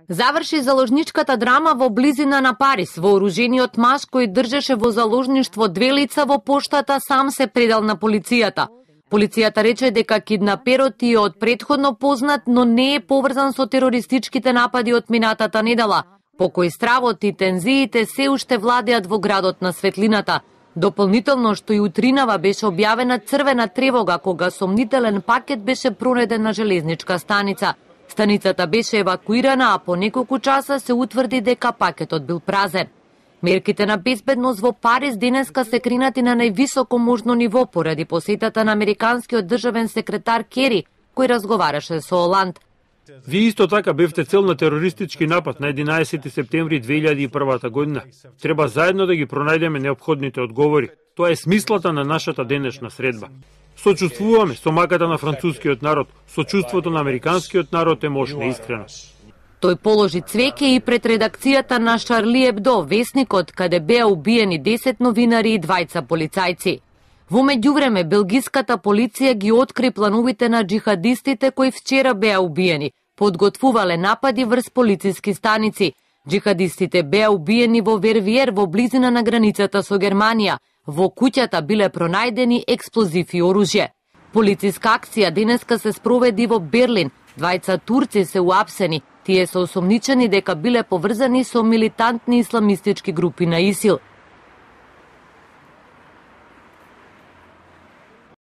Заврши заложничката драма во близина на Париз. Вооружениот маж кој држеше во заложништво 2 лица во поштата сам се предал на полицијата. Полицијата рече дека киднаперот е од претходно познат, но не е поврзан со терористичките напади од минатата недела, по кои стравот и тензиите се уште владеат во градот на светлината. Дополнително што и утринава беше објавена црвена тревога кога сомнителен пакет беше пронеден на железничка станица. Станицата беше евакуирана, а по неколку часа се утврди дека пакетот бил празен. Мерките на безбедност во Париз денеска се кренати на највисоко можно ниво поради посетата на американскиот државен секретар Кери, кој разговараше со Оланд. Вие исто така бевте цел на терористички напад на 11 септември 2001 година. Треба заедно да ги пронајдеме неопходните одговори. Тоа е смислата на нашата денешна средба. Сочувствуваме со маката на францускиот народ, сочувството на американскиот народ е мощно и искрено. Тој положи цвеќе и пред редакцијата на Шарли Ебдо, весникот каде беа убиени 10 новинари и 2 полицајци. Во меѓувреме, белгиската полиција ги откри плановите на джихадистите кои вчера беа убиени. Подготвувале напади врз полициски станици. Джихадистите беа убиени во Вервиер во близина на границата со Германија. Во куќата биле пронајдени експлозив и оружје. Полициска акција денеска се спроведи во Берлин. 2 турци се уапсени. Тие се осомничени дека биле поврзани со милитантни исламистички групи на ИСИЛ.